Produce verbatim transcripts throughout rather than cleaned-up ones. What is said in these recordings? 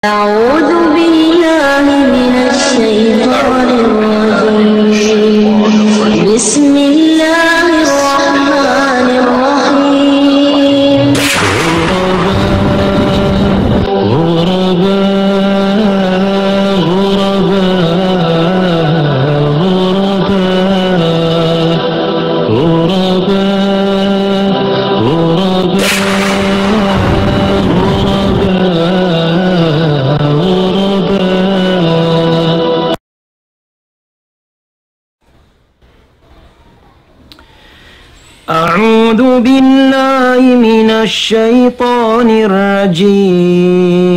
أعوذ بالله من الشيطان الرجيم. بسم الله الرحمن الرحيم. أعوذ بالله من الشيطان الرجيم.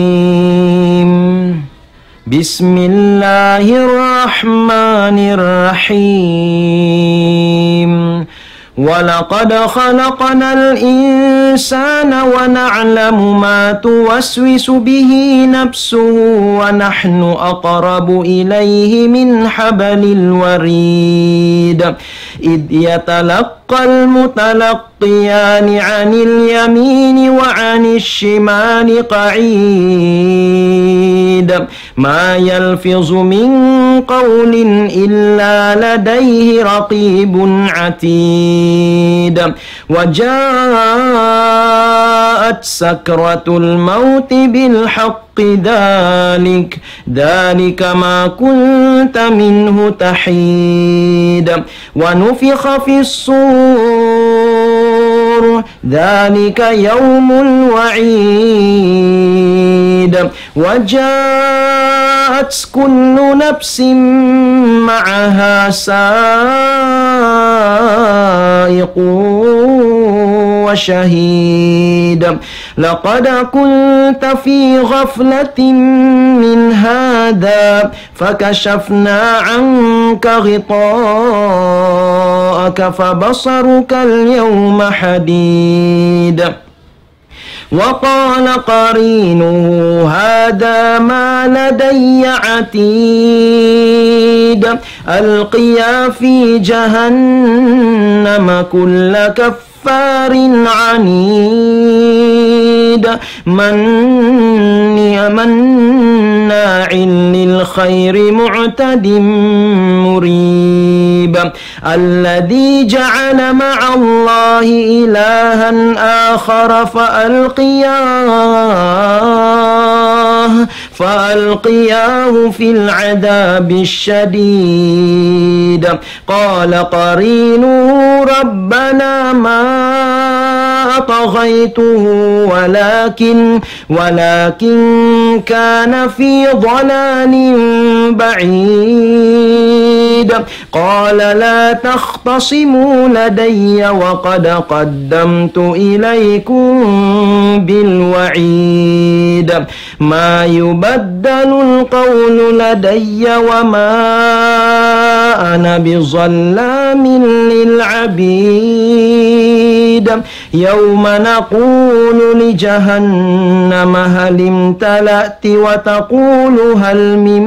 بسم الله الرحمن الرحيم. ولقد خلقنا الإنسان ونعلم ما توسوس به نفسه ونحن أقرب إليه من حبل الوريد. إذ يتلقى المتلقيان عن اليمين وعن الشمال قعيد. ما يلفظ من قول إلا لديه رقيب عتيد. وجاءت سكرة الموت بالحق ذلك، ذلك ما كنت منه تحيد. ونفخ في الصور، ذلك يوم الوعيد. وجاءت كل نفس معها سائق وشهيد. لقد كنت في غفلة من هذا فكشفنا عنك غطاءك فبصرك اليوم حديد. وقال قرينه هذا ما لدي عتيد. ألقيا في جهنم كل كفار عنيد. من، مناع للخير معتد مريب. الذي جعل مع الله إلها آخر فألقياه، فألقياه في العذاب الشديد. قال قرينه ربنا ما أطغيته ولكن، ولكن كان في ضلال بعيد. قال لا تختصموا لدي وقد قدمت إليكم بالوعيد. ما يبدل القول لدي وما أنا بظلام للعبيد. يوم نقول لجهنم هل امتلأت وتقول هل من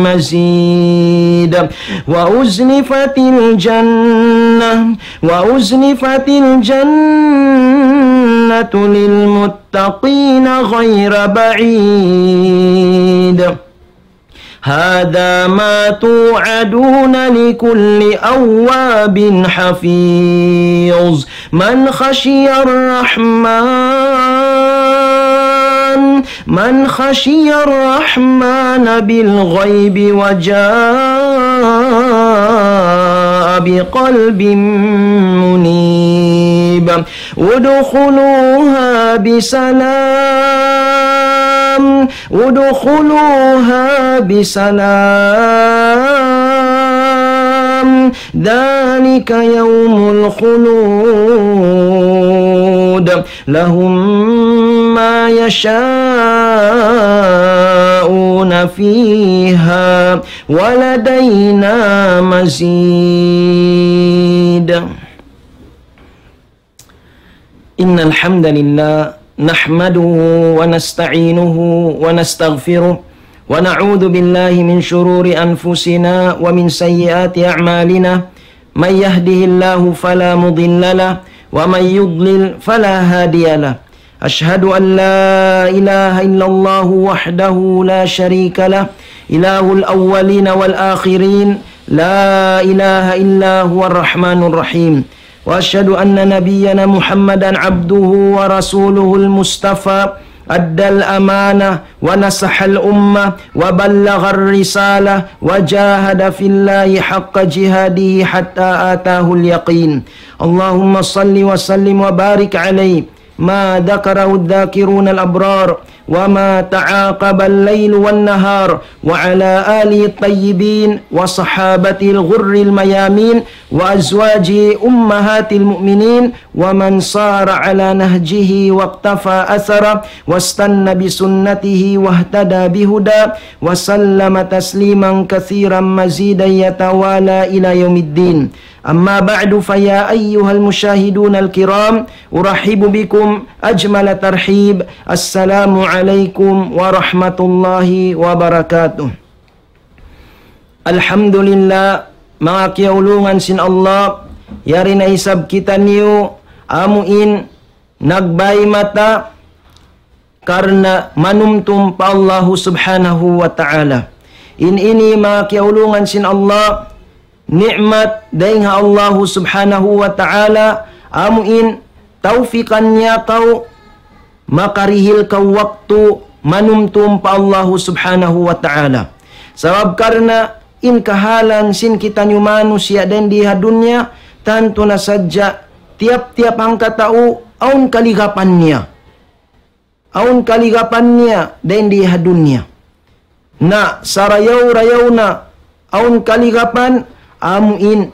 مزيد. وأزلفت الجنة، وأزلفت الجنة للمتقين غير بعيد. هذا ما توعدون لكل أواب حفيظ. من خشي الرحمن، من خشي الرحمن بالغيب وجاء بقلب منيب. ادخلوها بسلام، ادخلوها بسلام، ذلك يوم الخلود، لهم ما يشاءون فيها، ولدينا مزيد. إن الحمد لله نحمده ونستعينه ونستغفره، ونعوذ بالله من شرور أنفسنا ومن سيئات أعمالنا. من يهده الله فلا مضل له، ومن يضلل فلا هادي له. أشهد أن لا إله إلا الله وحده لا شريك له، إله الأولين والآخرين، لا إله إلا هو الرحمن الرحيم. وأشهد أن نبينا محمدا عبده ورسوله المصطفى، أدى الأمانة ونصح الأمة وبلغ الرسالة وجاهد في الله حق جهاده حتى أتاه اليقين. اللهم صل وسلم وبارك عليه ما ذكره الذاكرون الأبرار، وما تعاقب الليل والنهار، وعلى آله الطيبين وصحابته الغر الميامين، وأزواجه أمهات المؤمنين، ومن سار على نهجه واقتفى أثره، واستن بسنته واهتدى بهداه، وسلم تسليما كثيرا مزيدا يتوالى إلى يوم الدين. أما بعد، فيا أيها المشاهدون الكرام، أرحب بكم أجمل ترحيب. السلام عليكم ورحمة الله وبركاته. Alhamdulillah, manga kiyaulungan sin Allah, yari na isab kitaniyu amuin nagbay mata karna' manumtum pa Allahu Subhanahu wa Ta'ala. In ini manga kiyaulungan sin Allah, ni'mat dayn ha Allahu Subhanahu wa Ta'ala, amuin tawfikan niya kaw makarihil kaw waktu manumtum pa Allahu Subhanahu wa Ta'ala. Sabab karna' in kahalan sin kitaniyu manusiya' dayn di ha dunya, tantu na sadja tiyap-tiyap hangkatau awn kaligapan niya. Awn kaligapan niya dayn di ha dunya. Na sarayaw-rayaw na awn kaligapan, amuin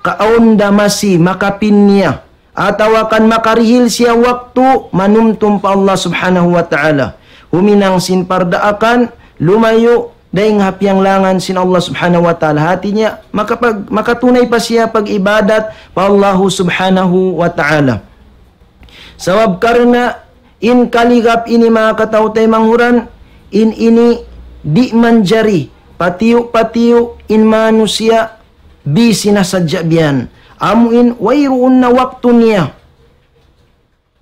kaawn da masi makapin niya, atawa kan makarihil siya waktu manumtum pa Allah Subhanahu wa Ta'ala. Huminang sin pardaakan, lumayu' dayn ha piyanglangan sin Allah Subhanahu wa Ta'ala. Hati niya, makapag-, makatunay pa siya pag-ibadat pa Allahu Subhanahu wa Ta'ala. Sabab karna' in kaligap ini manga kataw-taymanghuran, in ini di' manjari, patiyu'-patiyu' in manusiya' busy na sadja biyan. Amuin wayruun na waktu niya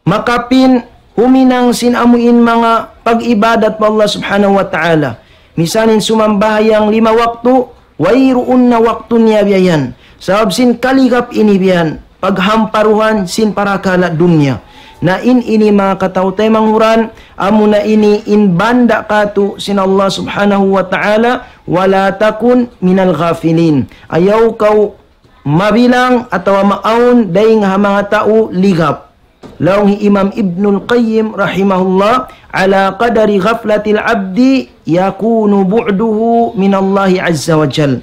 makapin huminang sin amuin manga pag-ibadat pa Allah Subhanahu wa Ta'ala. Misalin sumambahayang lima waktu, wayruun na waktu niya biya' yan. Sabab sin kaligap ini biya' yan, paghamparuhan sin parakala' dunya. Na in ini manga kataw-taymanghuran, amuna ini in banda' katu' sin Allah Subhanahu wa Ta'ala, ولا تكن من الغافلين. Ayaw kaw mabilang atawa maawn dayn ha manga tau ligap. Laung hi Imam Ibnul Qayyim rahimahullah, على قدر غفلة العبد يكون بعده من الله عز وجل.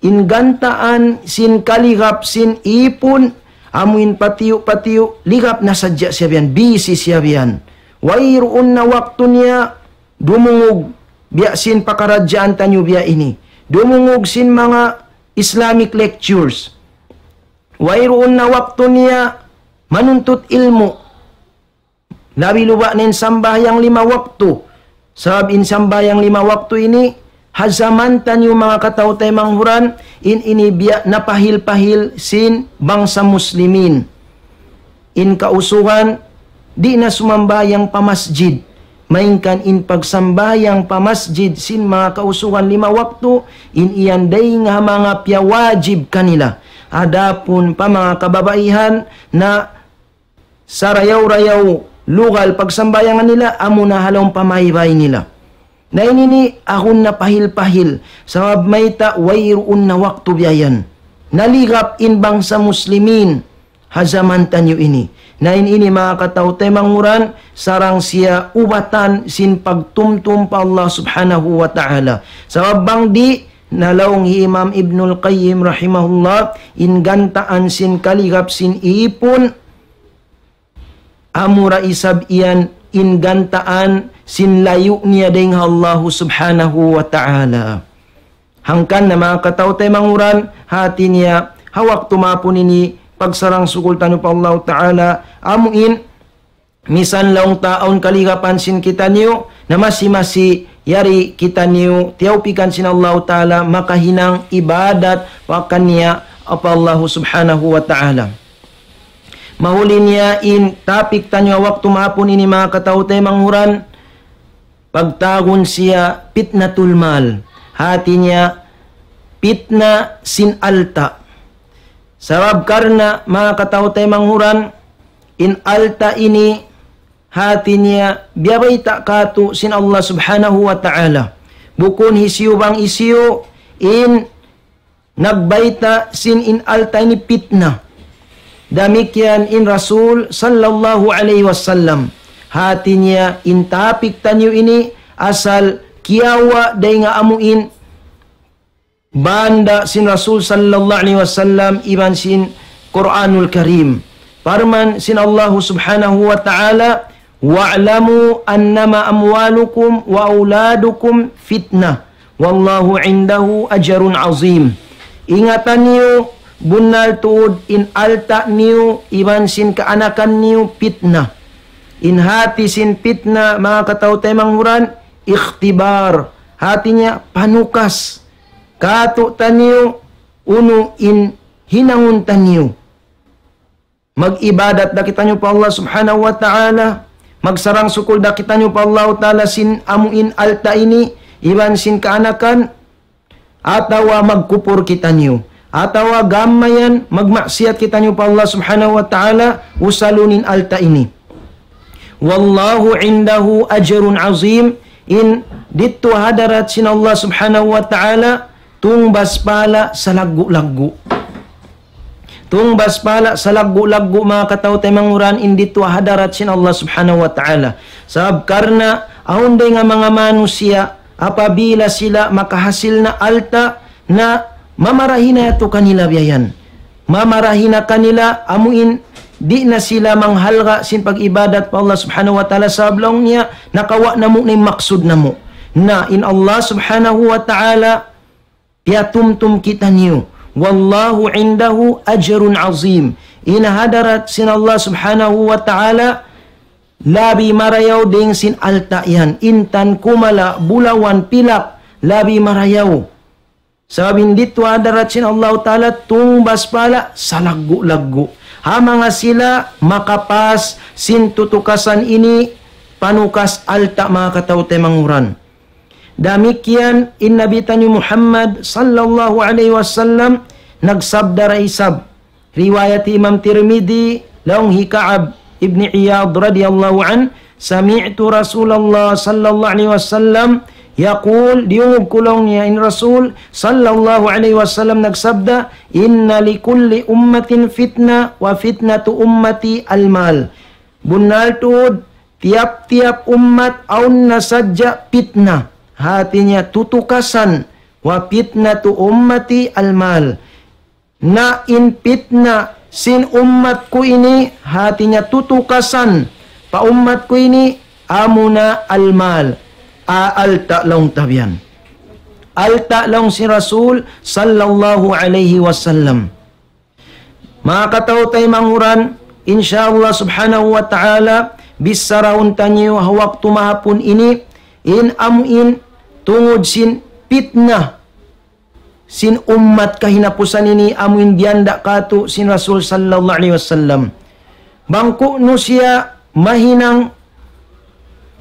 In gantaan sin kaligap sin ipun, amuin patiyu'-patiyu', ligap na sadja siya biyan, busy siya biyan. Wayruun na waktu niya dumungug biya' sin pakaradjaan taniyu biya' ini. Dumungug sin manga Islamic lectures. Wayruun na waktu niya manuntut ilmu'. Labi luba' na in sambahayang lima waktu. Sabab in sambahayang lima waktu ini, ha jaman taniyu manga kataw-taymanghuran, in ini biya' napahil-pahil sin bangsa muslimin. In kausugan, di' na sumambahayang pa masjid. Malayngkan in pagsambahayang pa masjid sin manga kausugan lima waktu, in iyan dayn ha manga piyawajib kanila. Adapun pa manga kababaihan na sarayaw-rayaw lugal pagsambahayangan nila, amuna ha lawm pamaybay nila. Na in ini agun na pahil-pahil, sabab mayta' wayruun na waktu biya' yan. Naligap in bangsa muslimin ha jaman taniyu ini. Na in ini manga kataw-taymanghuran, sarang siya ubatan sin pagtumtum pa Allah Subhanahu wa Ta'ala. Sabab bang di', na laung hi Imam Ibnul Qayyim rahimahullah, in gantaan sin kaligap sin ipun, amura isab iyan in gantaan sin layu' niya dayn ha Allahu Subhanahu wa Ta'ala. Hangkan na manga kataw-taymanghuran, hati niya, ha waktu mapun ini, pagsarang-sukul taniyu pa Allahu Ta'ala, amuin, misan laung ta awn kaligapan sin kitaniyu, na masi-masi yari kitaniyu, tiyawpikan sin Allahu Ta'ala, makahinang ibadat pa kaniya, pa Allahu Subhanahu wa Ta'ala. Mahuli niya in topic taniyu waktu mahapun ini, manga kataw-taymanghuran, pagtawagun siya pitnatul mal. Hati niya pitna sin alta'. Sabab karna', manga kataw-taymanghuran, in alta' ini hati niya biyabayta' katu' sin Allah Subhanahu wa Ta'ala. Bukun hisiyu bang hisiyu in nagbayta' sin in alta' ini pitna. Damikkiyan in Rasul sallallahu alayhi wasallam. Hati niya in topic taniyu ini asal kiyawa' dayn ha amu in banda sin Rasul sallallahu alayhi wasallam iban sin Qur'anul Karim. Parman sin Allah Subhanahu wa Ta'ala, "Wa'lamu annama amwalukum wa awladukum fitnah, wallahu indahu ajrun azim." Ingatan niyu, bunnal tuud in alta' niyu iban sin kaanakan niyu pitna. In hati sin pitna, manga kataw-taymanghuran, ikhtibar. Hati niya panukas katu'taniyu unu in hinangun taniyu. Mag-ibadat da kitaniyu pa Allah Subhanahu wa Ta'ala, magsarang-sukul da kitaniyu pa Allah Ta'ala sin amu in alta' ini, iban sin kaanakan, atawa magkupur kitaniyu, atawa gam mayan magmaksiyat kitaniyu pa Allah Subhanahu wa Ta'ala, usalun in alta' ini. Wallahu indahu ajrun azim, in didtu hadarat sin Allah Subhanahu wa Ta'ala, tungbas pahala' salaggu'-laggu'. Tungbas pahala' salaggu'-laggu', manga kataw-taymanghuran, in didtu hadarat sin Allah Subhanahu wa Ta'ala. Sabab karna' awn dayn ha manga manusiya', apabila sila makahasil na alta', na mamarahi na yadtu kanila biya' yan. Mamarahi na kanila amu in di' na sila manghalga' sin pag-ibadat pa Allah Subhanahu wa Ta'ala, sabab laung niya nakawa' namu' na in maksud namu'. Na in Allah Subhanahu wa Ta'ala piyatumtum kitaniyu. Wallahu indahu ajrun azim. In hadarat sin Allah Subhanahu wa Ta'ala labi marayaw dayn sin alta' yan. Intan, kumala', bulawan, pilak, labi marayaw. Sabab in didtu hadarat sin Allah Ta'ala tungbas pahala' salaggu'-laggu'. Ha manga sila makapas sin tutukasan ini panukas alta', manga kataw-taymanghuran. Damikkiyan in Nabi taniyu Muhammad sallallahu alayhi wasallam nagsabda da isab. Riwayat Imam Tirmidhi, laung hi Ka'ab ibn Iyad radiyallahu anhu, سمعت رسول الله صلى الله عليه وسلم يقول, diyungug ku laung niya in Rasul sallallahu alayhi wasallam nagsabda, إن لكل أمة فتنة وفتنة أمتي المال. Bunnal tuud, tiyap-tiyap ummat awn na sadja pitna. Hati niya tutukasan, وفتنة أمتي المال. Na in pitna sin ummat ku ini, hati niya tutukasan pa ummat ku ini, amuna al-mal, a-, alta' laung ta biyan. Alta' laung sin Rasul sallallahu alayhi wasallam. Manga kataw-taymanghuran, insya Allah Subhanahu wa Ta'ala, bissarahun taniyu ha waktu mahapun ini, in amu in tungud sin pitna sin ummat kahinapusan ini amu in diyanda' katu' sin Rasul sallallahu alayhi wasallam. Bang ku'nu siya mahinang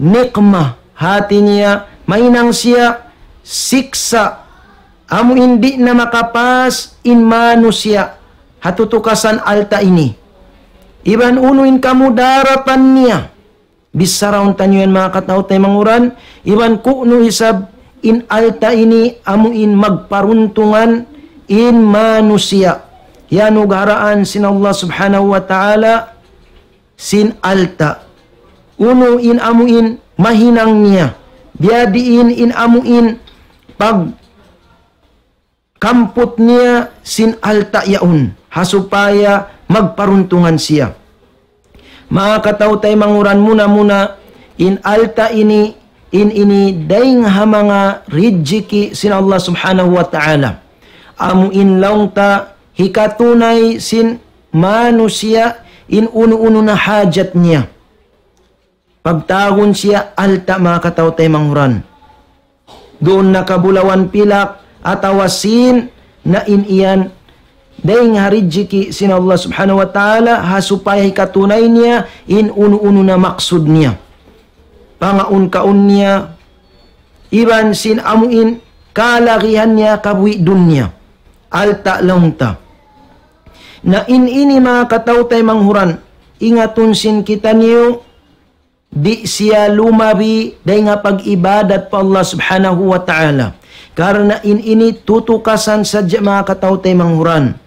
nikma, hati niya, mahinang siya siksa', amu in di' na makapas in manusiya' ha tutukasan alta' ini. Iban unu in kamudaratan niya. Bissarahun taniyu yan manga kataw-taymanghuran, iban ku'nu isab in alta' ini amu in magparuntungan in manusiya'. Iyanugharaan sin Allah Subhanahu wa Ta'ala sin alta'. Unu in amu in mahinang niya. Biya' diin in amu in pag kamput niya sin alta' yaun, ha supaya magparuntungan siya. Manga kataw-taymanghuran, muna-muna, in alta' ini, in ini dayng ha manga rijiki' sin Allah Subhanahu wa Ta'ala. Amu in laung ta hikatunay sin manusiya' in unu-unu na hajat niya. Pagtawagun siya alta', manga kataw-taymanghuran. Duun na ka bulawan pilak atawa sīn na in yan dayn ha rijiki' sin Allah Subhanahu wa Ta'ala, ha supaya hikatunay niya in unu-unu na maksud niya. Pangaun-kaun niya, iban sin amuin kalagihan niya kabuhi' dunya. Alta' laung ta. Na in ini manga kataw-taymanghuran, ingatun sin kitaniyu, di' siya lumabi dayn ha pag-ibadat pa Allah Subhanahu wa Ta'ala. Karna' in ini tutukasan sadja manga kataw-taymanghuran.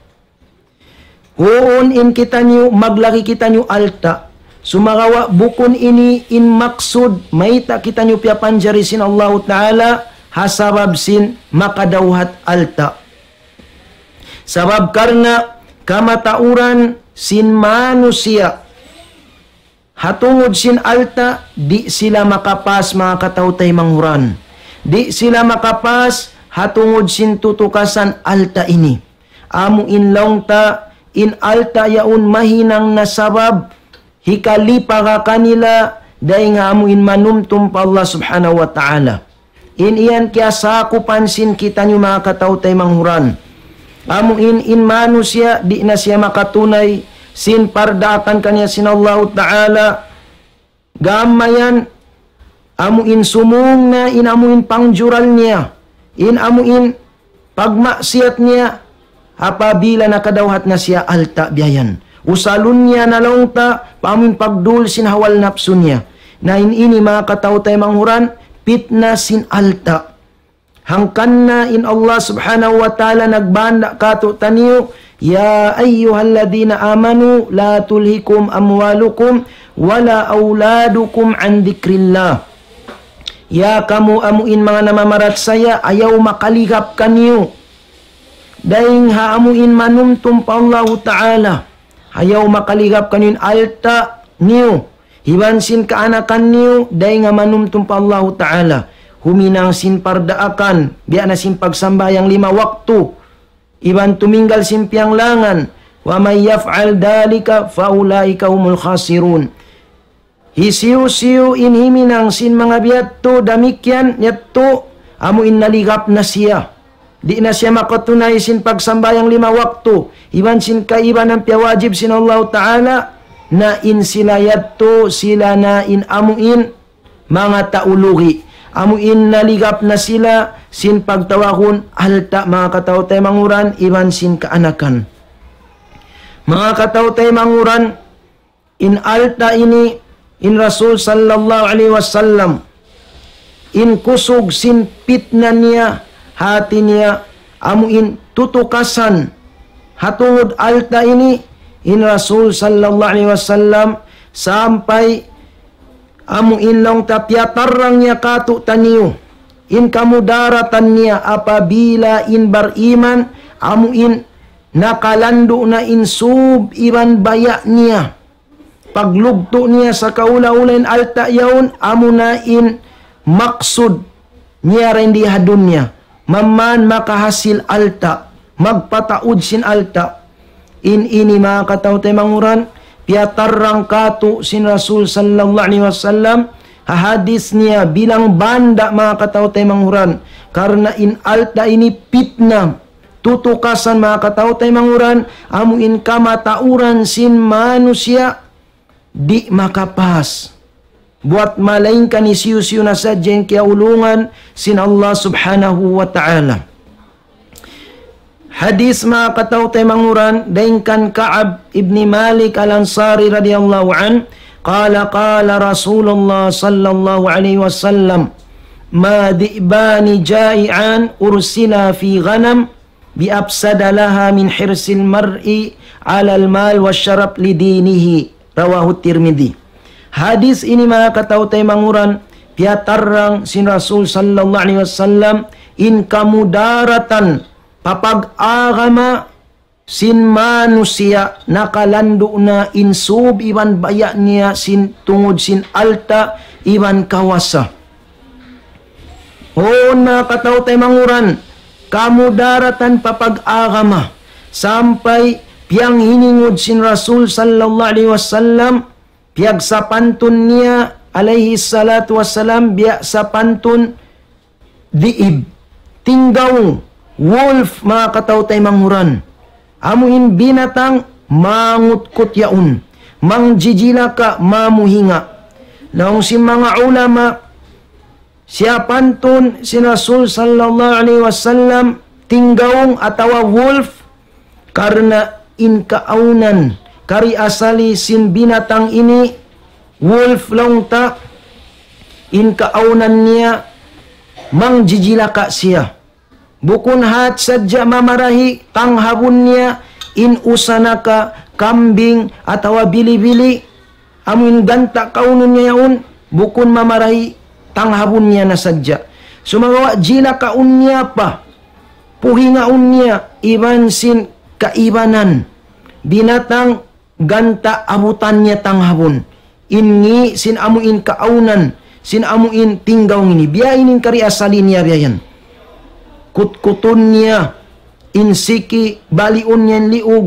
Huun in kitaniyu, maglagi kitaniyu alta'. Sumagawa' bukun ini in maksud, mayta' kitaniyu piyapanjari sin Allahu Ta'ala, ha sabab sin makadawhat alta'. Sabab karna' kamatauran sin manusiya', ha tungud sin alta', di' sila makapas manga kataw-taymanghuran. Di' sila makapas ha tungud sin tutukasan alta' ini. Amu in laung ta, in alta' yaun mahinang na sabab, hikalipaga kanila, dayn ha amu in manumtum pa Allah Subhanahu wa Ta'ala. In iyan kiyasakupan sin kitaniyu manga kataw-taymanghuran. Amu in, in manusiya' di' na siya makatunay sin pardaakan kaniya sin Allahu Ta'ala. Gam mayan, amu in sumung na in amu in pangjural niya. In amu in pagmaksiyat niya, apabila nakadawhat na siya alta' biya' yan. Usalun niya na laung ta, pa amu in pagdul sin hawal napsu niya. Na in ini manga kataw-taymanghuran, pitna sin alta'. Hangkan na in Allah Subhanahu wa Ta'ala nagbanda' katu'taniyu, يا أيها الذين آمنوا لا تلهكم أموالكم ولا أولادكم عن ذكر الله. Ya kamu amu in manga namamarachaya, ayaw makaligap kaniyu dayn ha amu in manumtum pa Allahu Ta'ala. Ayaw makaligap kaniyu in alta' niyu, iban sin kaanakan niyu, dayn ha manumtum pa Allahu Ta'ala. Huminang sin pardaakan, biya' na sin pagsambahayang lima waktu, iban tuminggal sin piyanglangan. ومن يفعل ذلك فأولئك هم الخاسرون. Hisiyu-siyu in himinang sin manga biya' yadtu damikkiyan, yadtu amu in naligap na siya. Di' na siya makatunay sin pagsambahayang lima waktu, iban sin kaibanan piyawajib sin Allahu Ta'ala, na in sila yadtu, sila na in amu in manga tau lugi'. Amu in naligap na sila sin pagtawagun alta' manga kataw-taymanghuran, iban sin kaanakan. Manga kataw-taymanghuran, in alta' ini, in Rasul sallallahu alayhi wasallam, in kusug sin pitna niya, hati niya, amu in tutukasan, ha tungud alta' ini, in Rasul sallallahu alayhi wasallam, sampay amu in laung ta piyatarrang niya katu'taniyu, in kamudaratan niya apabila in bariman, amu in nakalandu' na in sub iban baya' niya. Paglugtu' niya sakaula-ula in alta' yaun, amuna in maksud niya dayn di ha dunya. Mamman makahasil alta', magpataud sin alta'. In ini manga kataw-taymanghuran, piyatarrang katu' sin Rasul sallallahu alayhi wasallam, ha hadis niya bilang banda' manga kataw-taymanghuran. Karna' in alta' ini pitna, tutukasan manga kataw-taymanghuran, amu in kamatauran sin manusiya' di' makapas. Buwat malaingkan hisiyu-siyu na sadja in kiyaulungan sin Allah Subhanahu wa Ta'ala. Hadis manga kataw-taymanghuran, dayn kan Ka'ab ibn Malik al-Ansari radiyallahu anhu, قال قال رسول الله صلى الله عليه وسلم ما ذئبان جائعان أرسلا في غنم بأفسد لها من حرص المرء على المال والشرف لدينه. رواه الترمذي. Hadis ini manga kataw-taymanghuran, piyatarrang sin Rasul sallallahu alayhi wasallam, in kamudaratan pa pag-agama sin manusiya' nakalandu' na in sub iban baya' niya sin tungud sin alta' iban kawasa. Huun manga kataw-taymanghuran, kamudaratan pa pag-agama, sampay piyanghiningud sin Rasul sallallahu alayhi wasallam, piyagsapantun niya alayhi salatu wassalam, biya' sapantun dhi'ib, tinggaw, wolf, manga kataw-taymanghuran. Amu in binatang mangutkut yaun, mangjijilaka, mamuhinga. Laung sin manga ulama, siyapantun sin Rasul sallallahu alayhi wasallam tinggaung atawa wolf, karna' in kaawnan, kari asali sin binatang ini, wolf laung ta, in kaawnan niya mangjijilaka siya. Bukun hat sadja mamarahi tanghabun niya in usa naka kambing atawa bili-bili, amu in ganta' kaunun niya yaun, bukun mamarahi tanghabun niya na sadja. Sumagawa' jilakaun niya pa, puhingaun niya iban sin kaibanan binatang ganta' abutan niya tanghabun. In ngi' sin amu in kaawnan sin amu in tinggaung ini. Biya' ini in kari asali niya biya' yan. Kutkutun niya in siki, baliun niya in liug,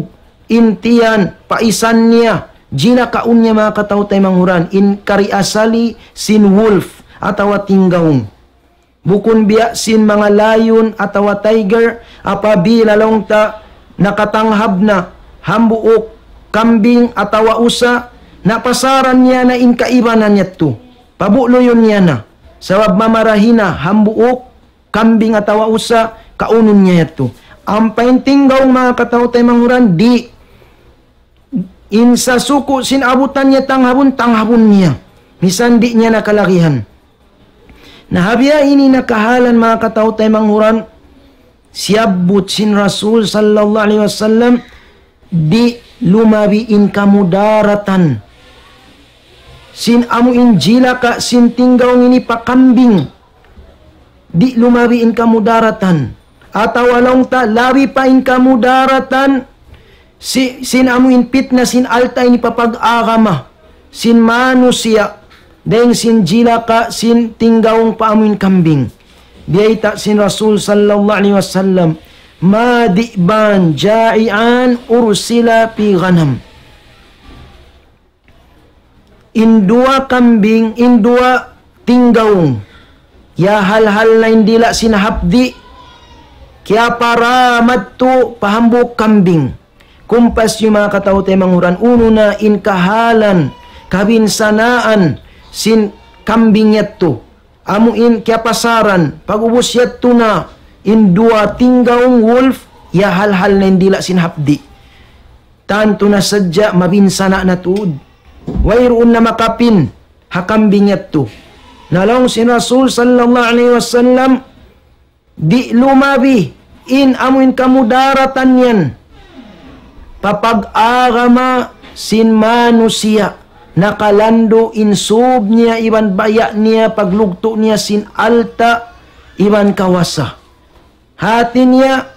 in tiyan, paisan niya, jilakaun niya, manga kataw-taymanghuran, in kari asali sin wolf atawa tinggaung. Bukun biya' sin manga lion atawa tiger, apabila laung ta nakatanghab na hambuuk kambing atawa usa, na pasaran niya na in kaibanan yadtu. Pabukluyun niya na. Sabab mamarahi na hambuuk kambing atawa usa, kaunun niya yadtu. Ampa in tinggaung, manga kataw-taymanghuran, di'. In sasuku' sin abutan niya tanghabun, tanghabun niya. Misan di' niya na kalagihan. Na ha biya' ini na kahalan, manga kataw-taymanghuran, siyabbut sin Rasul sallallahu alayhi wasallam, di' lumabi in kamudaratan sin amu in jilaka sin tinggaung ini pa kambing. Di' lumabi in kamudaratan. Atawa laung ta, labi pa in kamudaratan si-, sin amu in pitna sin alta' ini pa pag-agama sin manusiya', dayng sin jilaka sin tinggaung pa amu in kambing. Biyayta' sin Rasul sallallahu alayhi wasallam, ما ذئبان جائعان أرسلا في غنم. In duwa kambing, in duwa tinggaung, ya hal-hal na in dila' sin hapdi', kiyaparamadtu pa hambuuk kambing. Kumpas niyu, manga kataw-taymanghuran, unu na in kahalan, kabinsanaan sin kambing yadtu. Amu in kiyapasaran, pag'ubus yadtu na in duwa tinggaung wolf, ya hal-hal na in dila' sin hapdi'. Tantu na sadja mabinsana' na tuud. Wayruun na makapin ha kambing yadtu. Na laung sin Rasul sallallahu alayhi wasallam, di' lumabi in amu in kamudaratan yan pa pag-agama sin manusiya', nakalandu' in sūb niya iban baya' niya, paglugtu' niya sin alta' iban kawasa. Hati niya,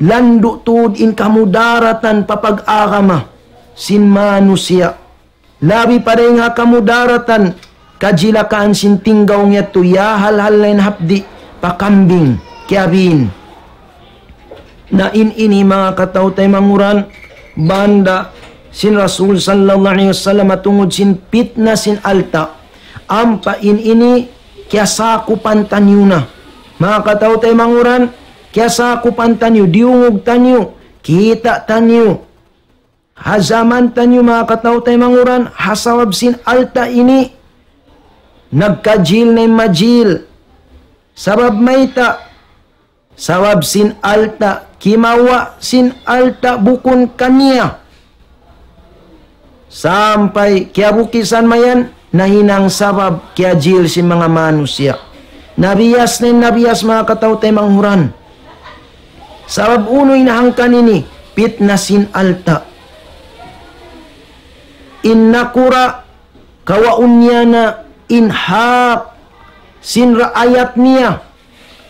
landu' tuud in kamudaratan pa pag-agama sin manusiya'. Labi pa dayng ha kamudaratan, kajilakaan sin tinggaung yadtu, ya hal-hal na in hapdi' pa kambing, kiyabin. Na in ini, manga kataw-taymanghuran, banda sin Rasul sallallahu alayhi wasallam tungud sin pitna sin alta'. Ampa in ini kiyasakupan taniyu na. Manga kataw-taymanghuran, kiyasakupan taniyu, diyungug taniyu, kita' taniyu. Ha jaman taniyu, manga kataw-taymanghuran, ha sabab sin alta' ini, nagkajil na in majil. Sabab mayta'? Sabab sin alta', kimawa' sin alta' bukun kaniya. Sampay kiyabukisan mayan, nahinang sabab kiyajil sin manga manusiya'. Nabiyas na in nabiyas, manga kataw-taymanghuran. Sabab unu in hangkan ini, pitna sin alta'. In nakura', kawaun niya na in hak sin raayat niya.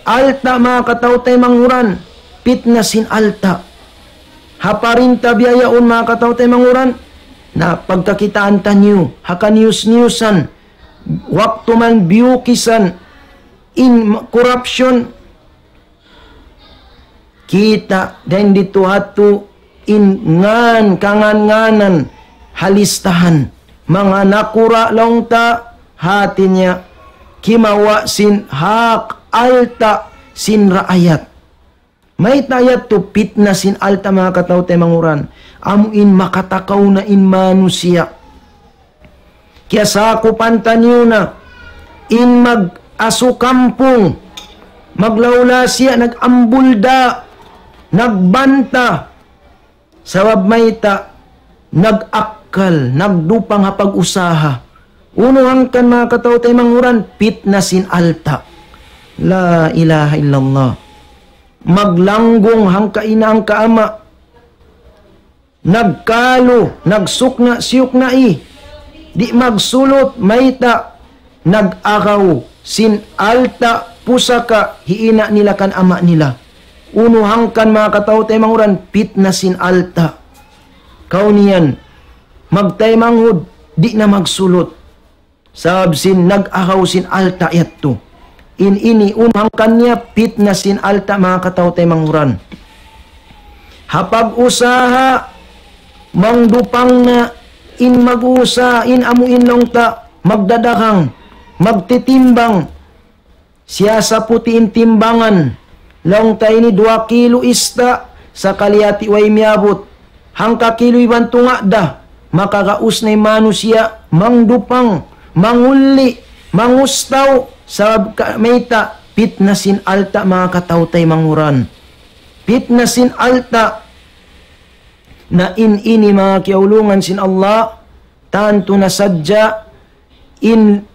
Alta', manga kataw-taymanghuran, pitna sin alta'. Ha parinta biya' yaun, manga kataw-taymanghuran, na pagkakitaan taniyu ha kaniyus-niyusan, waktu man biyukisan in corruption, kita' dayn didtu ha yadtu in ngan, kangan-nganan ha listahan. Manga nakura' laung ta, hati niya kimawa' sin hak alta' sin raayat. Mayta' yadtu? Pitna sin alta', manga kataw-taymanghuran. Amu in makatakaw na in manusiya'. Kiyasakupan taniyu na in mag-asu kampung, maglawla siya, nag-ambulda, nagbanta. Sabab mayta'? Nag-akkal, nagdupang ha pag-usaha. Unu hangkan, manga kataw-taymanghuran? Pitna sin alta'. La ilaha illallah. Maglanggung hangka ina', hangka ama'. Nagkalu, nagsukna'-siyuknai. Di' magsulut, mayta'? Nag-agaw sin alta' pusaka hi ina' nila kan ama' nila. Unu hangkan, manga kataw-taymanghuran? Pitna sin alta'. Kaw niyan, magtaymanghud, di' na magsulut. Sabab sin nag-agaw sin alta' yadtu. In ini unu hangkan niya? Pitna sin alta', manga kataw-taymanghuran. Ha pag-usaha, mangdupang na in mag-uusaha, in amu in laung ta magdadagang, magtitimbang. Siyasaputi in timbangan. Laung ta ini duwa kilu ista', sakali hati way miyabut. Hangka kilu iban tunga' da. Makagaus na in manusiya', mangdupang, mangulli', mangustaw, sabab ka-, mayta'? Pitna sin alta', manga kataw-taymanghuran. Pitna sin alta'. Na in ini, manga kiyaulungan sin Allah, tantu na sadja in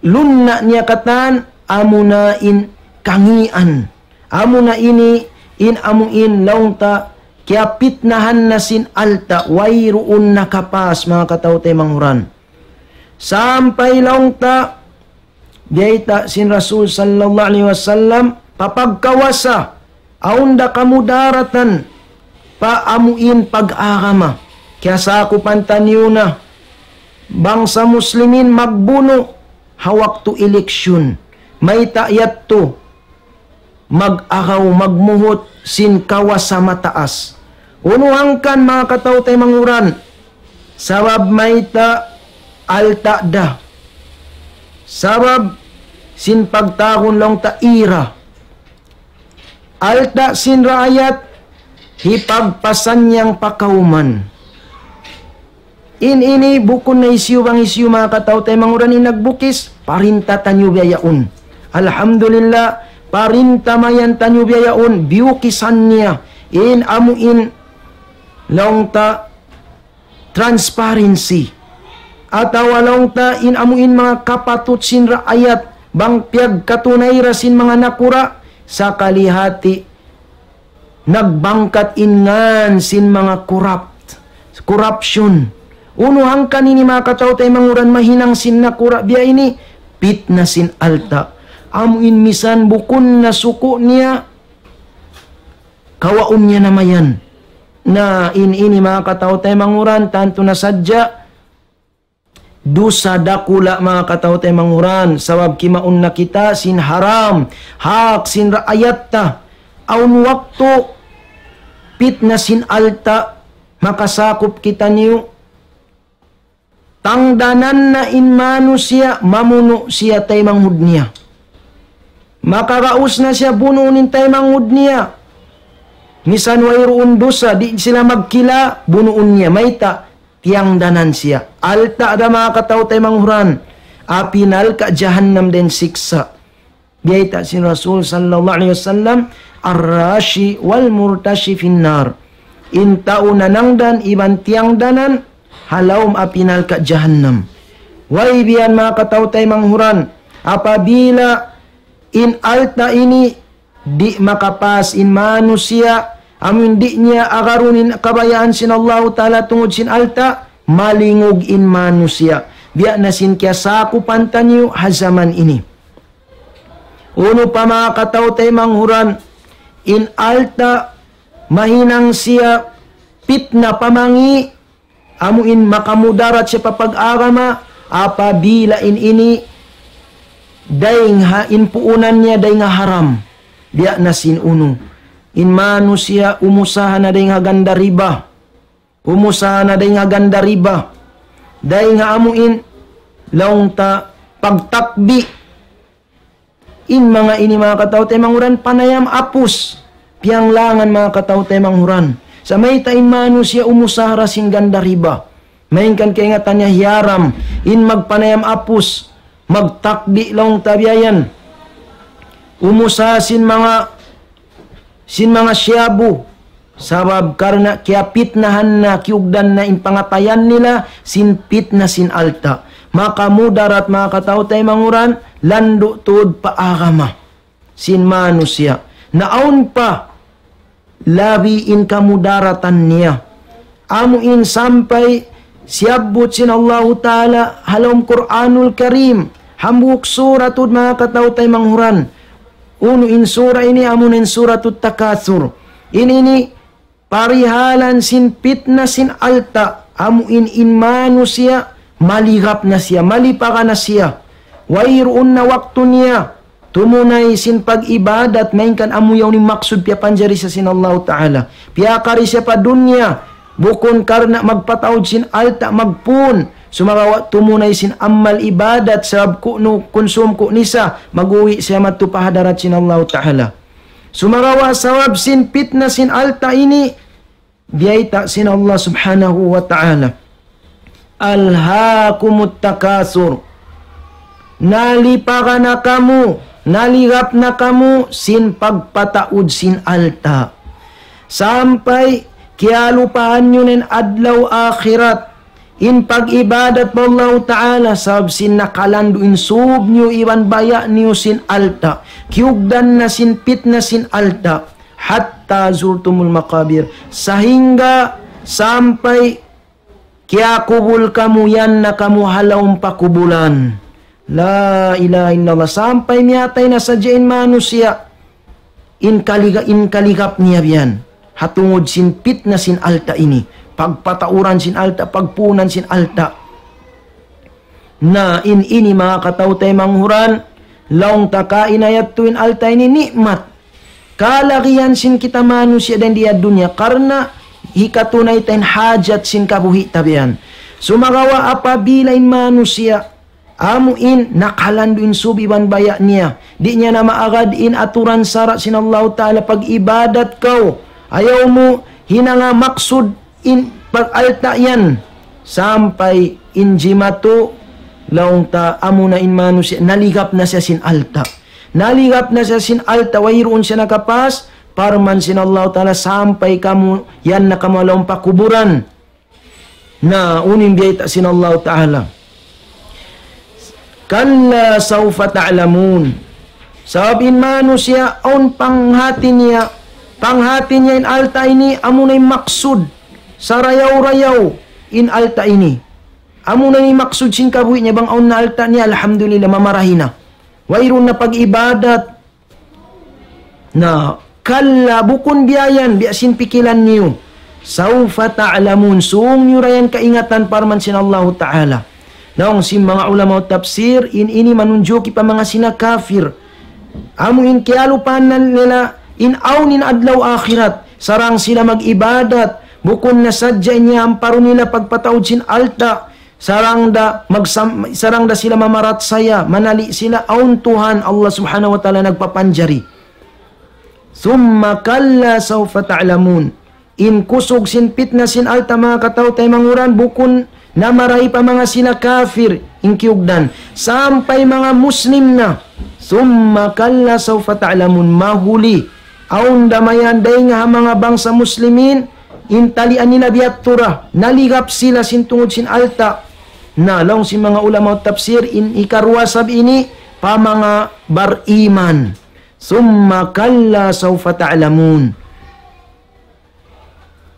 lunna' niya katan, amuna in kangīan. Amuna ini in amu in laung ta kiyapitnahan na sin alta', wayruun nakapas, manga kataw-taymanghuran. Sampay laung ta, biyayta' sin Rasul sallallahu alayhi wasallam, pa pagkawasa, awn da kamudaratan pa amu in pag-agama. Kiyasakupan taniyu na bangsa Muslimin magbunu' ha waktu eleksyon. Mayta' yadtu? Mag-agaw, magmuhut sin kawasa mataas. Unu hangkan, manga kataw-taymanghuran? Sabab mayta'? Alta' da. Sabab sin pagtawagun laung ta ira. Alta' sin raayat, hipagpasannyang pa kawman. In ini bukun na hisiyu bang hisiyu, manga kataw-taymanghuran, in nagbukis, parinta taniyu biya' yaun. Alhamdulillah, parinta mayan taniyu biya' yaun, biyukisan niya. In amu in laung ta transparency. Atawa laung ta in amu in manga kapatut sin raayat, bang piyagkatunay ra sin manga nakura', sakali hati nagbangkat in ngan sin manga corrupt, corruption. Unu hangkan ini, manga kataw-taymanghuran, mahinang sin nakura' biya' ini? Pitna sin alta'. Amu in misan bukun na suku' niya, kawaun niya na mayan. Na in ini, manga kataw-taymanghuran, tantu na sadja dusa dakula', manga kataw-taymanghuran, sabab kimaun na kita sin haram, hak sin raayat ta. Awn waktu pitna sin alta' makasakup kitaniyu, tangdanan na in manusiya', mamunu' siya taymanghud niya. Makagaus na siya bunuun in taymanghud niya. Misan wayruun dusa, di' sila magkila', bunuun niya. Mayta'? Tiyangdanan siya. Alta' da, manga kataw-taymanghuran. Api narka' jahannam da in siksa'. Biyayta' sin Rasul sallallahu alayhi wasallam, "Ar-rashi wal murtashi fin nar." In tau nanangdan iban tiyangdanan ha lawm api narka' jahannam. Way biya' yan, manga kataw-taymanghuran, apabila in alta' ini di' makapas in manusiya', amu in di' niya agarun in kabayaan sin Allahu Ta'ala tungud sin alta', malingug in manusiya'. Biya' na sin kiyasakupan taniyu ha jaman ini. Unu pa, manga kataw-taymanghuran, in alta' mahinang siya pitna, pamangi', amu in makamudarat siya pa pag-agama, apabila in ini dayng ha in puunan niya dayng ha haram. Biya' na sin unu, in manusiya' umusaha na dayng ha ganda riba. Umusaha na dayng ha ganda riba. Dayng ha amu in laung ta pagtakbi. In manga ini, manga kataw-taymanghuran, panayam apus. piyanglangan, manga kataw-taymanghuran. Sa' mayta' in manusiya' umusaha da sin ganda riba. Malayngkan kaingatan niya hiyaram in magpanayam apus, magtakdi' laung ta biya' yan. Umusaha sin manga, sin manga shabu. Sabab karna' kiyapitnahan na, kiyugdan na in pangatayan nila sin pitna sin alta'. Maka mudarat, manga kataw-taymanghuran, landu' tuud pa agama sin manusiya'. Na awn pa labi in kamudaratan niya. Amu in sampay siyabbut sin Allahu Ta'ala ha lawm Qur'anul Karim. Hambuuk sura tuud, manga kataw-taymanghuran. Unu in sura ini? Amu na in Suratut Takathur. Ini ini parihalan sin pitna sin alta', amu in, in manusiya', maligap na siya, malipaga na siya. Wayruun na waktu niya tumunay sin pag-ibadat, malayngkan amu yaun in maksud piyapanjari siya sin Allahu Ta'ala. Piyakari siya pa dunya, bukun karna' magpataud sin alta', magpun. Sumagawa' tumunay sin amal ibadat, sabab kunu' kunsum ku nisa, mag-uwi' siya madtu pa hadarat sin Allahu Ta'ala. Sumagawa' sabab sin pitna sin alta' ini, biyayta' sin Allah Subhanahu wa Ta'ala, "Alhaakumut takathur." Nalipaga na kamu, naligap na kamu sin pagpataud sin alta'. Sampay kiyalupahan niyu na in adlaw akhirat, in pag-ibadat pa Allahu Ta'ala, sabab sin nakalandu' in sūb niyu iban baya' niyu sin alta'. Kiyugdan na sin pitna sin alta'. "Hatta zurtumul maqabir." Sahingga sampay kiyakubul kamu, yan na kamu ha lawm pakubulan. La ilaha illallah. Sampay miyatay na sadja in manusiya', in kaliga-, in kaligap niya biyan. Ha tungud sin pitna sin alta' ini. Pagpatauran sin alta', pagpunan sin alta'. Na in ini, manga kataw-taymanghuran, laung ta kaina yadtu in alta' ini ni'mat. Kalagihan sin kita manusiya' dayn di ha dunya, karna' hikatunay ta in hajat sin kabuhi' ta biyan. Sumagawa' apabila in manusiya', amu in nakalandu' in sūb iban baya' niya, di' niya na maagad in aturan sara' sin Allahu Ta'ala pag-ibadat kaw. Ayaw mu hinanga maksud in pag-alta' yan. Sampay in jimatu, laung ta, amu na in manusiya', naligap na siya sin alta'. Naligap na siya sin alta', wayruun siya nakapas, parman sin Allahu Ta'ala, sampay kamu, yan na kamu ha lawm pakuburan. Na, unu in biyayta' sin Allahu Ta'ala. "Kalla sawfa ta'lamun." Sabab in manusiya', awn panghati niya, panghati niya in alta' ini, amu na in maksud, sarayaw-rayaw in alta' ini. Amu na in maksud sin kabuhi' niya, bang awn na alta' niya, alhamdulillah, mamarahi na. Wayruun na pag-ibadat. Na, kalla, bukun biya' yan, biya' sin pikilan niyu. Sawfa ta'lamun, sūng niyu da yan kaingatan, parman sin Allahu Ta'ala. Laung sin manga ulama tafsir, in ini manunjuki pa manga sila kafir. Amu in kiyalupahan nila, in awn in adlaw akhirat, sarang sila mag-ibadat, bukun na sadja in iyamparu nila pagpataud sin alta', sarang da magsam-, sarang da sila mamarachaya, manali' sila awn Tuhan Allah Subhanahu wa Ta'ala nagpapanjari. Thumma kalla sawfa ta'lamun. In kusug sin pitna sin alta', manga kataw-taymanghuran, bukun na marahi pa manga sila kafir in kiyugdan. Sampay manga Muslim na. Thumma kalla sawfa ta'lamun. Mahuli, awn da mayan dayn ha manga bangsa Muslimin, in talian nila biyadtu ra, naligap sila sin tungud sin alta'. Na, laung sin manga ulama tafsir, in hikaruwa sab ini pa manga bariman. Thumma kalla sawfa ta'lamun.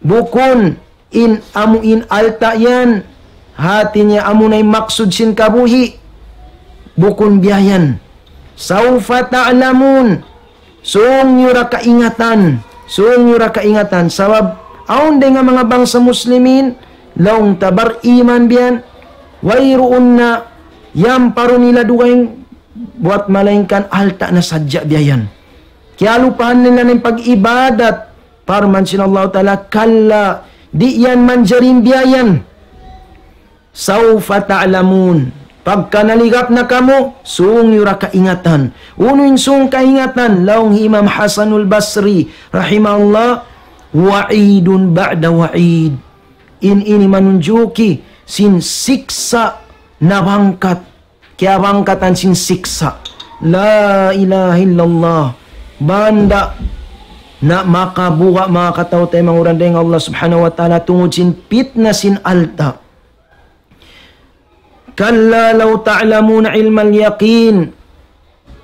Bukun in amu in alta' yan, hati niya amu na in maksud sin kabuhi'. Bukun biya' yan. Sawfa ta'lamun. Sūng niyu da kaingatan. Sūng niyu da kaingatan. Sabab, awn dayn ha manga bangsa Muslimin, laung ta bariman biya' yan, wayruun na iyamparu nila dugaing buwat malaingkan alta' na sadja biya' yan. Kiyalupahan nila in pag-ibadat. Parman sin Allahu Ta'ala, kalla, di' yan manjari biya' yan. Sawfa ta'lamun. Pagka naligap na kamu, sung niyu ra kaingatan. Unu in sung kaingatan, laung hi Imam Hasanul Basri, rahimahullah, وعيد بعد وعيد. In ini manunjuki sin siksa' na bangkat, kiyabangkatan sin siksa'. La ilaha illallah. Banda na makabuga' manga kataw-taymanghuran dayn ha Allah Subhanahu wa Ta'ala tungud sin pitna sin alta'. كلا لو تعلمون علم اليقين.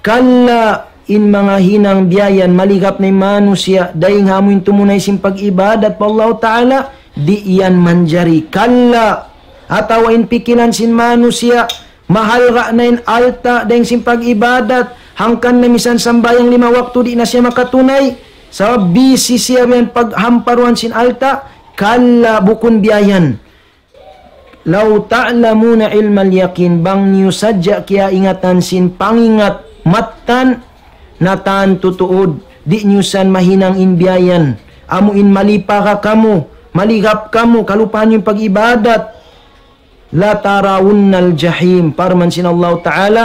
Kalla, in manga hinang biya' yan, maligap na in manusiya', dayn ha amu in tumunay sin pag-ibadat pa Allah Ta'ala, di' yan manjari. Kalla, atawa in pikilan sin manusiya', mahalga' na in alta' dayn sin pag-ibadat, hangkan na misan sambahayang lima waktu di' na siya makatunay, sabab busy siya biya' yan paghamparuan sin alta', kalla, bukun biya' yan. لو تعلمون علم اليقين, bang niyu sadja kiyaingatan sin pangingat mattan, na tantu tuud, di' niyu san mahinang in biya' yan. Amu in malipaga kamu, maligap kamu, kalupahan niyu in pag-ibadat. لترون الجحيم, parman sin Allah Ta'ala,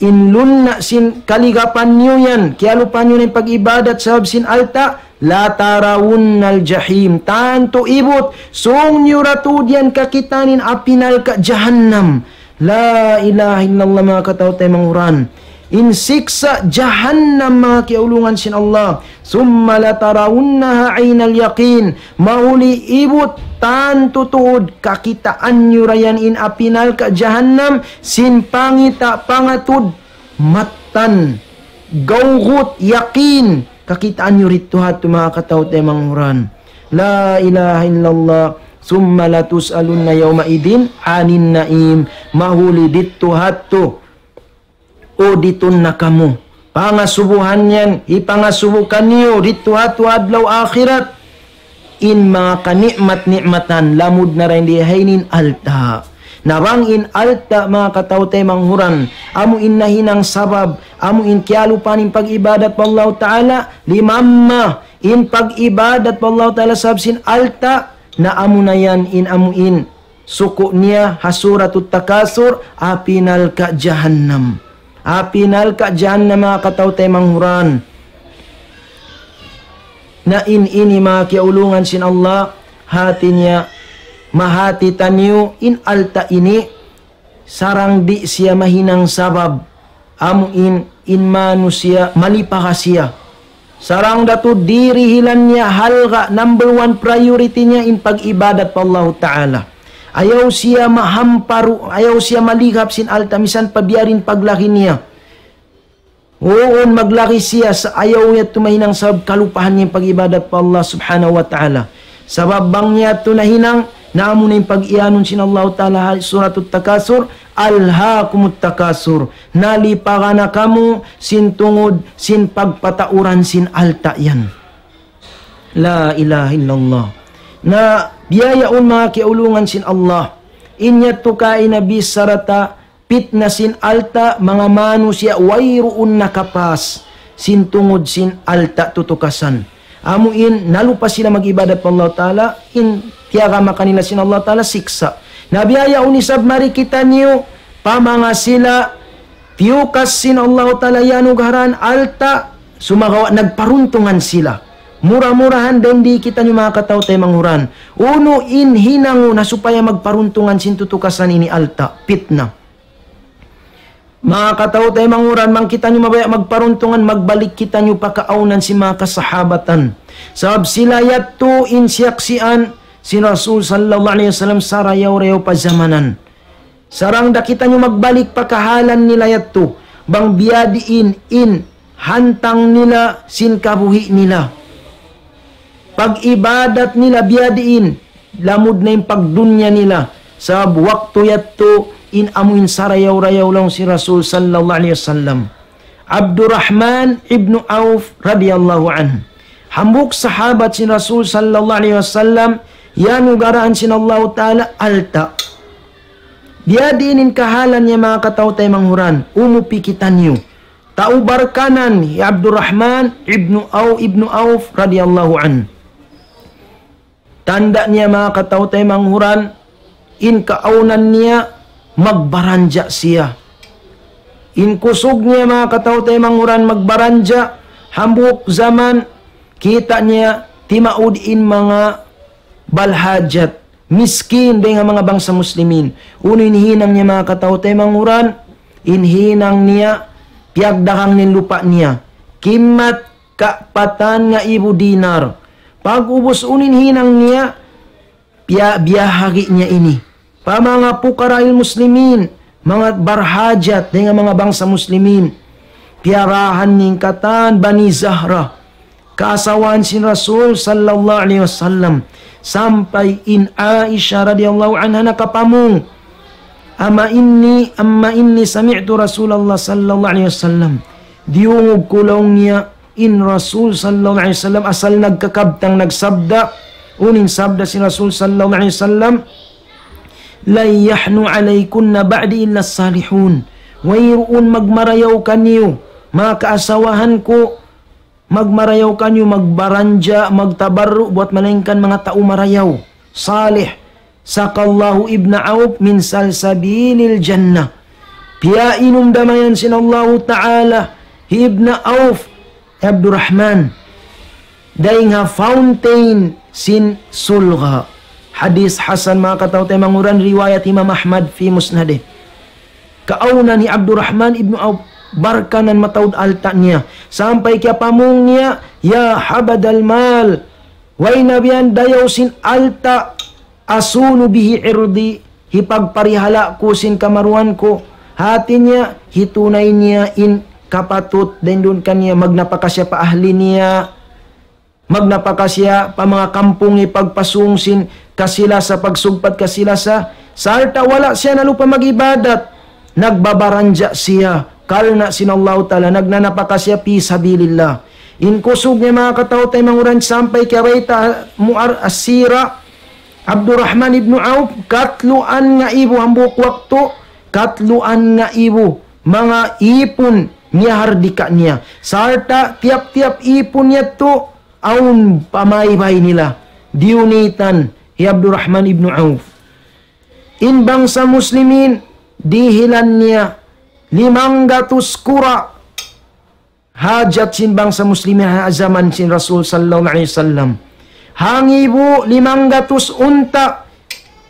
in lunna' sin kaligapan niyu yan, kiyalupahan niyu na in pag-ibadat sabab sin alta', لترون الجحيم. Tantu ibut, sung niyu ra tuud yan kakitaan in api narka' jahannam. La ilaha illallah, manga kataw-taymanghuran. In siksa' jahannam, manga kiyaulungan sin Allah. ثم لترونها عين اليقين. Mahuli ibut, tantu tuud kakitaan niyu ra yan in api narka' jahannam, sin pangita' pangatud mattan, gawgut, yakin, kakitaan niyu didtu hadtu, manga kataw-taymanghuran. La ilaha illallah. ثم لتسألن يومئذ عن النعيم. Mahuli didtu hadtu, uditun na kamu. Pangasubuhan yan, hipangasubu kaniyu didtu hadtu adlaw akhirat. In manga kani'mat-ni'matan, lamud na dayn di ha ini in alta'. Na bang in alta', manga kataw-taymanghuran, amu in nahinang sabab, amu in kiyalupahan in pag-ibadat pa Allah Ta'ala, limamma in pag-ibadat pa Allah Ta'ala sabab sin alta', na amu na yan in amu in suku' niya ha Suratut Takasur, api narka' jahannam. Api narka' jahannam, manga kataw-taymanghuran. Na in ini, manga kiyaulungan sin Allah, hati niya, mahati taniyu in alta' ini, sarang di' siya mahinang sabab, amu in, in manusiya' malipaga siya. Sarang da tuud dirihilan niya halga', number one priority niya in pag-ibadat pa Allahu Ta'ala. Ayaw siya mahamparu, ayaw siya maligap sin alta' misan pa biya' diin paglagi niya. Uun, maglagi siya sa' ayaw niya tuud mahinang sabab kalupahan niya in pag-ibadat pa Allah Subhanahu wa Ta'ala. Sabab bang niya tuud nahinang, na amu na in pag-iyanun sin Allahu Ta'ala ha Suratut Takasur, ألهاكم التكاثر. Nalipaga na kamu sin tungud sin pagpatauran sin alta' yan. La ilaha illallah. Na biya' yaun, manga kiyaulungan sin Allah. In yadtu kaina bichara ta pitna sin alta', manga manusiya' wayruun nakapas sin tungud sin alta' tutukasan. Amu in nalupa sila mag-ibadat pa Allah Ta'ala, in tiyagama kanila sin Allah Ta'ala siksa'. Na biya' yaun isab mari kitaniyu, pa manga sila tiyukas sin Allah Ta'ala iyanugarahan alta', sumagawa' nagparuntungan sila. Mura-murahan dayn di kitaniyu, manga kataw-taymanghuran, unu in hinangun ha supaya magparuntungan sin tutukasan ini alta', pitna. Manga kataw-taymanghuran, bang kitaniyu mabaya' magparuntungan, magbalik kitaniyu pa kaawnan sin manga kasahabatan. Sabab sila yadtu in siyaksian sin Rasul sallallahu alayhi wasallam sarayaw-rayaw pa zamanan. Sarang da kitaniyu magbalik pa kahalan nila yadtu, bang biya' diin in hantang nila sin kabuhi' nila. Pag-ibadat nila biya' diin, lamud na in pagdunya nila. Sabab waktu yadtu in amu in sarayaw-rayaw laung sin Rasul sallallahu alayhi wasallam. Abdurrahman ibn Auf radiyallahu anhu. Hambuuk sahabat sin Rasul sallallahu alayhi wasallam, iyanugarahan sin Allahu Ta'ala alta'. Biya' diin in kahalan niya, manga kataw-taymanghuran, umupi kitaniyu. Tau Barkanan hi Abdurrahman ibnu Au-, ibnu Auf radiyallahu anhu. Tanda' niya, manga kataw-taymanghuran, in kaawnan niya, magbaranja' siya. In kusug niya, manga kataw-taymanghuran, magbaranja', hambuuk jaman, kita' niya timaud in manga balhajat, miskin, dayn ha manga bangsa muslimin. Unu in hinang niya, manga kataw-taymanghuran? In hinang niya, piyagdagang niya in lupa' niya. Kimmat kapatan ngaibu dinar. Pag'ubus, unu in hinang niya, piya-, biyahagi' niya ini pa manga fuqara'il muslimin, manga barhajat dayn ha manga bangsa muslimin. Piyarahan niya in katan Bani Zahra, kaasawahan sin Rasul sallallahu alayhi wasallam, sampay in Aisha radiyallahu anha nakapamung, أما إني، أما إني سمعت رسول الله صلى الله عليه وسلم. Diyungug ku, laung niya, in Rasul sallallahu alayhi wasallam asal nagkakabtang nagsabda. Unu in sabda sin Rasul sallallahu alayhi wasallam? لن يحن عليكن بعدي إلا الصالحون. Wayruun magmarayaw kaniyu, manga kaasawahan ku, magmarayaw kaniyu, magbaranja', magtabarru' buwat malaingkan manga tau marayaw, salih. سقى الله ابن عوف من سلسبيل الجنة. Piyainum da mayan sin Allahu Ta'ala hi Ibn Auf, Abdurrahman, dayn ha fountain sin surga'. Hadith hasan, manga kataw-taymanghuran, riwayat Imam Ahmad fi Musnadih. Kaawnan hi Abdurrahman ibn Auf, barkanan mataud alta' niya. Sampay kiyapamung niya, يا حبذا المال, way na biya' yan dayaw sin alta', أصون به عرضي, hipagparihala' ku sin kamaruan ku. Hati niya, hitunay niya in kapatut dayn duun kaniya, magnapaka siya pa ahli niya, magnapaka siya pa manga kampung, hipagpasung sin kasi-lasa, pagsugpat kasi-lasa, sarta' wala' siya nalupa mag-ibadat, nagbabaranja' siya karna' sin Allahu Ta'ala, nagnanapaka siya fi sabilillah. In kusug niya, manga kataw-taymanghuran, sampay kiyabayta' mu ar-, as-sira, Abdurrahman ibn Auf, katluan ngaibu hambuuk waktu, katluan ngaibu manga ipun miyahardika niya. Sarta' tiyap-tiyap ipun yadtu, awn pamaybay nila, diyunitan hi Abdurrahman ibn Auf. In bangsa muslimin, dihilan niya limanggatus kura' hajat sin bangsa muslimin ha jaman sin Rasul sallallahu alayhi wasallam. Hangibu limanggatus unta',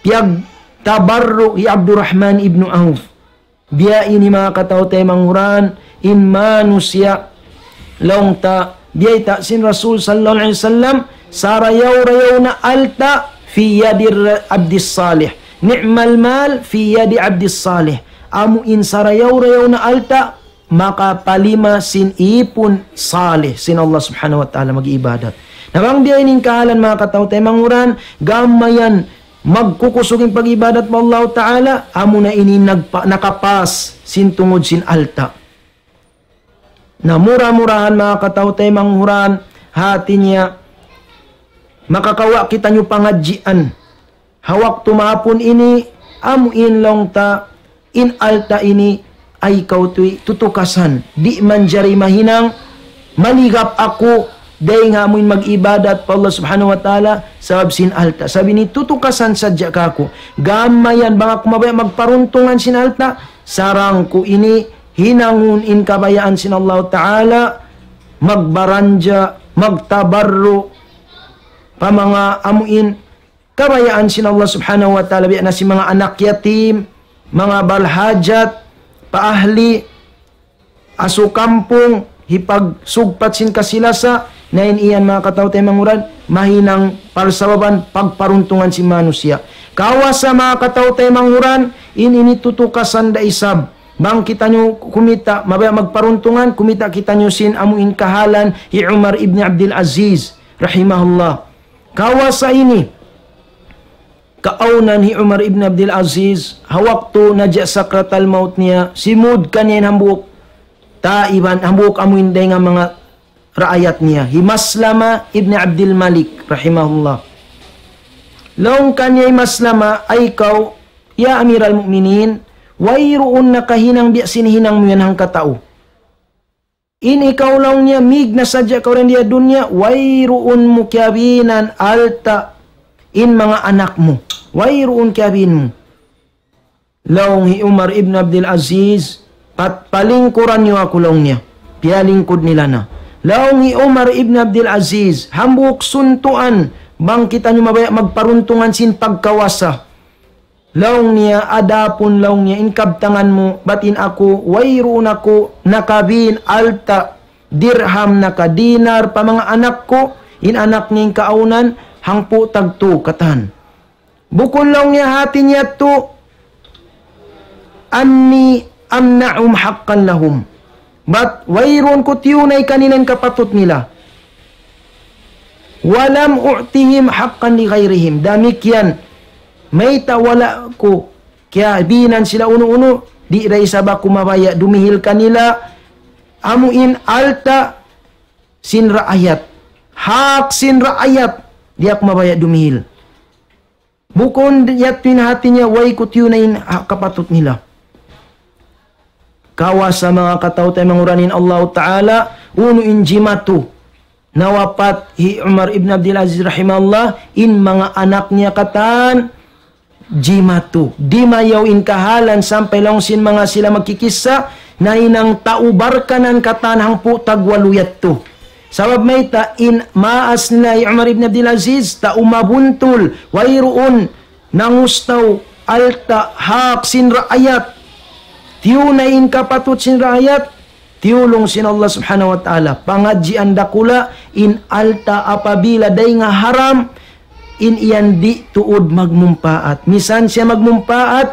piyagtabarru' hi Abdurrahman ibn Auf. Biya' ini, manga kataw-taymanghuran, in manusiya', laung ta, biyayta' sin Rasul sallallahu alayhi wasallam, sarayaw-rayaw na alta' في يد العبد الصالح. نعم المال في يد العبد الصالح. Amu in sarayaw-rayaw na alta', makapalima sin ipun salih sin Allah Subhanahu wa Ta'ala mag-ibadat. Na bang biya' ini in kahalan, manga kataw-taymanghuran, gam mayan magkukusug in pag-ibadat pa Allah Ta'ala, amuna ini nagpa-, nakapas sin tungud sin alta'. Na mura-murahan, manga kataw-taymanghuran, hati niya, makakawa' kitaniyu pangadjian. Ha waktu mahapun ini, amu in, laung ta, in alta' ini, ay kaw tuwi tutukasan. Di' manjari mahinang, maligap aku, dayn ha amu in mag-ibadat pa Allah Subhanahu wa Ta'ala, sabab sin alta'. Sabab ini tutukasan sadja kaku'. Gam mayan bang aku mabaya' magparuntungan sin alta', sarang ku ini hinangun in kabayaan sin Allah Ta'ala, magbaranja', magtabarru', pa manga amu in kabayaan sin Allah Subhanahu wa Ta'ala, biya' na sin manga anak yatim, manga balhajat, pa ahli, asu kampung, hipagsugpat sin kasi-lasa, na in yan, manga kataw-taymanghuran, mahinang parsababan pagparuntungan sin manusiya'. Kawasa, manga kataw-taymanghuran, in ini tutukasan da isab. Bang kitaniyu kumita', mabaya' magparuntungan, kumita' kitaniyu sin amu in kahalan hi Umar ibn Abdul Aziz, rahimahullah. Kawasa ini, kaawnan hi Umar ibn Abdul Aziz, ha waktu naja' sakratal maut niya, simud kaniya in hambuuk taiban, hambuuk amu in dayn ha manga raayat niya, hi Maslama ibn Abdul Malik, rahimahullah. Laung kaniya hi Maslama, ay kaw, ya Amiral Mu'minin, wayruun nakahinang biya' sin hinang mu yan hangkatau. In ikaw, laung niya, mig na sadja kaw dayn di ha dunya, wayruun mu kiyabinan alta' in manga anak mu. Wayruun kiyabin mu. Laung hi Umar ibn Abdul Aziz, "Pat-, palingkuran niyu aku," laung niya. Piyalingkud nila na. Laung hi Umar ibn Abdul Aziz, "Hambuuk suntuan, bang kitaniyu mabaya' magparuntungan sin pagkawasa." Laung niya, "Adapun," laung niya, "in kabtangan mu, bat in aku, wayruun aku nakabin alta', dirham, naka dinar, pa manga anak ku, in anak niya in kaawnan, hangpu' tagtu katan." Bukun laung niya hati niya tu, "أني أمنعهم حقا لهم." Bat wayruun ku tiyunay kanila in kapatut nila. "ولم أعطهم حقا لغيرهم." Damikkiyan, mayta' wala' ku kiyabinan sila unu-unu, di' da isab aku mabaya' dumihil kanila, amu in alta' sin raayat, hak sin raayat, di' aku mabaya' dumihil. Bukun yadtu in hati niya, way ku tiyunay in ha-, kapatut nila. Kawasa manga kataw-taymanghuran in Allahu Ta'ala, unu in jimatu. Nawapat hi Umar ibn Abdul Aziz rahimahullah, in manga anak niya katan, jimatu. Dimayaw in kahalan sampay laung sin manga sila magkikissa, nahinang tau Barkanan katan hangpu' tagwalu yadtu. Sabab mayta', in maas nila hi Umar ibn Abdul Aziz, tau mabuntul, wayruun nangustaw alta' hak sin raayat. Tiyunay in kapatut sin raayat, tiyulung sin Allah Subhanahu wa Ta'ala. Pangadjian dakula', in alta' apabila dayn ha haram, in yan di' tuud magmumpaat. Misan siya magmumpaat,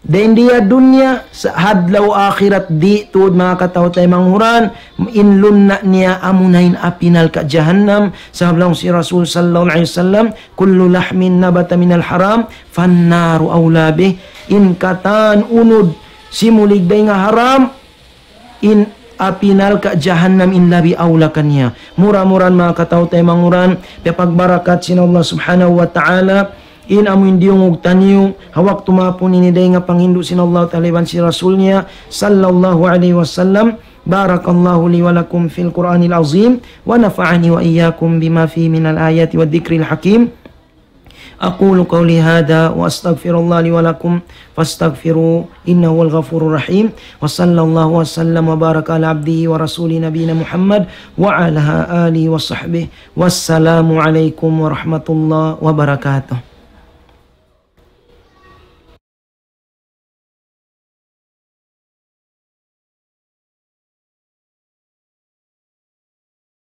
dayn di ha dunya, sa' ha adlaw akhirat di' tuud, manga kataw-taymanghuran, in lunna' niya amuna in api narka' jahannam, sabab laung sin Rasul sallallahu alayhi wasallam, "كل لحم نبت من الحرام فالنار أولى به." In katan unud simulig dayn ha haram, in api narka' jahannam in labi awla kaniya. Mura-murahan manga kataw-taymanghuran, piyapagbarakat sin Allah Subhanahu wa Ta'ala, in amu in diyungug taniyu, ha waktu maapun ini dayn ha panghindu' sin Allah Ta'ala iban sin Rasul niya, sallallahu alayhi wasallam. بارك الله لي ولكم في القرآن العظيم، ونفعني وإياكم بما فيه من الآيات والذكر الحكيم. أقول قولي هذا وأستغفر الله لي ولكم فاستغفروه إنه هو الغفور الرحيم. وصلى الله وسلم وبارك على عبده ورسوله نبينا محمد وعلى آله وصحبه. والسلام عليكم ورحمة الله وبركاته.